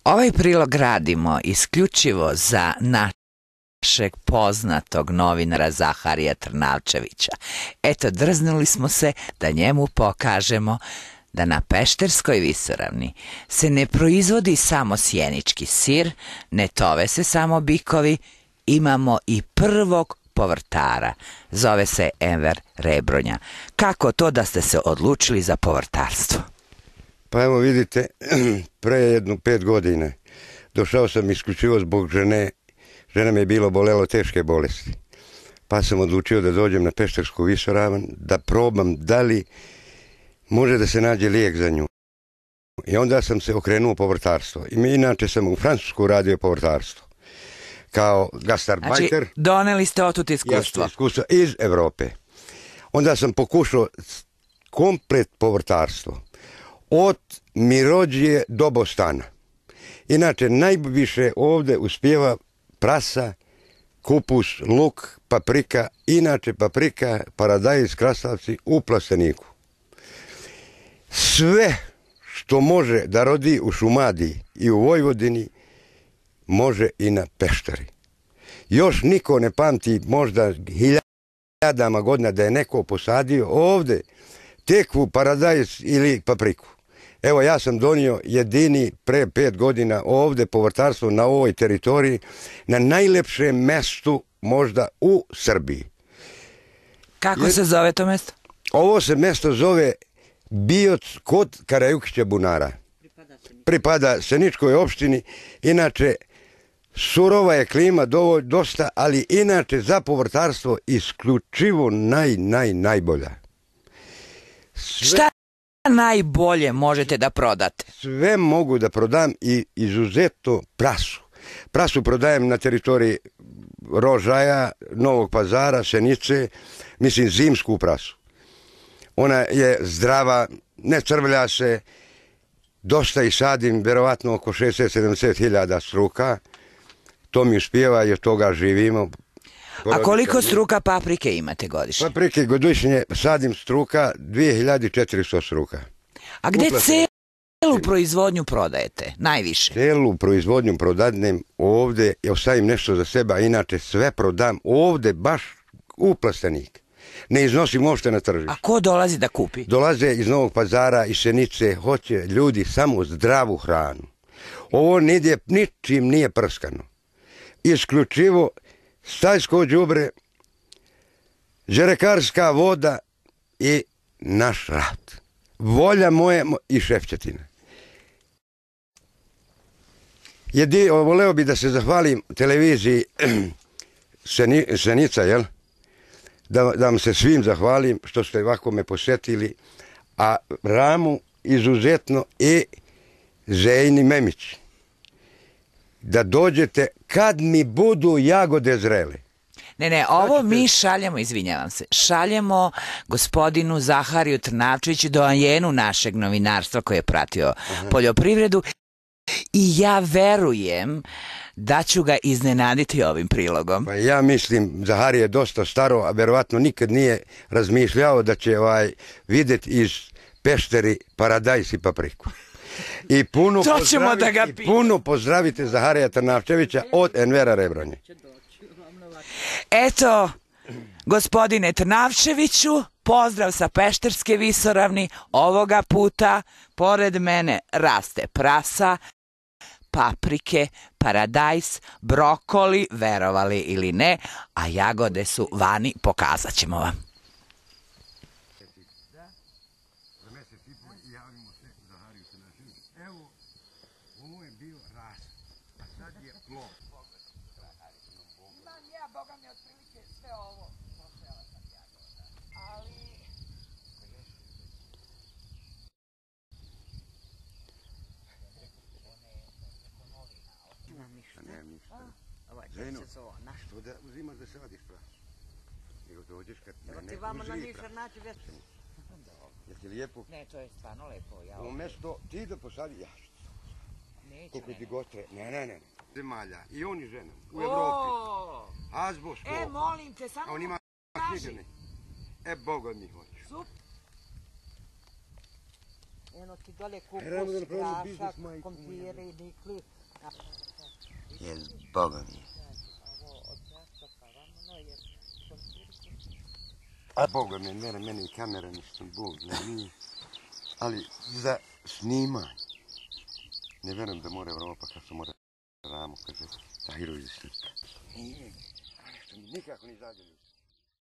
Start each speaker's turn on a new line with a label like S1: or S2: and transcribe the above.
S1: Ovaj prilog radimo isključivo za našeg poznatog novinara Zaharija Trnavčevića. Eto, drznuli smo se da njemu pokažemo da na Pešterskoj visoravni se ne proizvodi samo sjenički sir, ne tove se samo bikovi, imamo i prvog povrtara. Zove se Enver Rebronja. Kako to da ste se odlučili za povrtarstvo?
S2: Pa evo vidite, pre jedno 5 godina došao sam isključivo zbog žene. Žena me je bilo bolelo teške bolesti. Pa sam odlučio da dođem na Peštersku visoravan, da probam da li može da se nađe lijek za nju. I onda sam se okrenuo povrtarstvo. Inače sam u Francusku radio povrtarstvo. Kao gastarbajter.
S1: Znači, doneli ste otud iskustvo.
S2: Iskustvo iz Evrope. Onda sam pokušao komplet povrtarstvo. Od Mirođije do Bostana. Inače, najviše ovde uspijeva prasa, kupus, luk, paprika. Inače, paprika, paradajz, krastavci u plasteniku. Sve što može da rodi u Šumadiji i u Vojvodini, može i na Pešteri. Još niko ne pamti, možda hiljadama godina, da je neko posadio ovde tekvu, paradajz ili papriku. Evo, ja sam donio jedini pre 5 godina ovde povrtarstvo na ovoj teritoriji, na najlepšem mestu možda u Srbiji.
S1: Kako se zove to mesto?
S2: Ovo se mesto zove Bioc kod Karajukića Bunara. Pripada Seničkoj opštini. Inače, surova je klima dosta, ali inače za povrtarstvo isključivo najbolja.
S1: Šta najbolje možete da prodate?
S2: Sve mogu da prodam i izuzetno prasu. Prasu prodajem na teritoriji Rožaja, Novog Pazara, Senice, mislim zimsku prasu. Ona je zdrava, ne crvlja se, dosta i sadim, verovatno oko 60-70 hiljada struka. To mi uspijeva i od toga živimo.
S1: A koliko struka paprike imate godišnje?
S2: Paprike godišnje sadim struka 2400 struka.
S1: A gde celu proizvodnju prodajete najviše?
S2: Celu proizvodnju prodadnem ovde, ja ostavim nešto za sebe, a inače sve prodam ovde baš u plastenik. Ne iznosim uopšte na tržište.
S1: A ko dolazi da kupi?
S2: Dolaze iz Novog Pazara, iz Senice, hoće ljudi samo zdravu hranu. Ovo ničim nije prskano. Isključivo stajsko đubre, žerekarska voda i naš rad. Volja moja i šefćetina. Voleo bi da se zahvalim televiziji Senica, jel? Da vam se svim zahvalim što ste ovako me posjetili, a Ramu izuzetno i Zejni Memić. Da dođete kad mi budu jagode zrele.
S1: Ne, ovo mi šaljemo, izvinjavam se, šaljemo gospodinu Zahariju Trnavčeviću, doajenu našeg novinarstva koji je pratio poljoprivredu, i ja verujem da ću ga iznenaditi ovim prilogom.
S2: Pa ja mislim, Zaharije je dosta staro, a verovatno nikad nije razmišljao da će vidjeti iz Pešteri paradajz i papriku. I puno pozdravite Zaharija Trnavčevića od Envera Rebronje.
S1: Eto, gospodine Trnavčeviću, pozdrav sa Pešterske visoravni. Ovoga puta pored mene raste prasa, paprike, paradajz, brokoli, verovali ili ne, a jagode su vani, pokazat ćemo vam.
S2: Zeno, što da uzimaš da sadiš prasu? Nego dođeš kad mene uzri prasu. Je ti lijepo?
S1: Ne, to je stvarno lepo.
S2: Umesto ti da posadi, ja što koliko ti god treba. Ne. Zemalja i oni žene u Evropi. Azbos.
S1: Molim te, samo
S2: on ima knjigane. Boga mi hoću.
S1: Super. Eno ti dole kupus,
S2: Ramo da napravimo biznis,
S1: grašak,
S2: majku
S1: kompiri, nikli.
S2: Jel, Boga mi je. A Boga mi, mene i kamera ništa, Bog ne nije. Ali za snimanje, ne verujem da mora Evropa kad se mora Ramo, kaže, Tahirović slika. Nije, a nešto mi nikako ne izađe.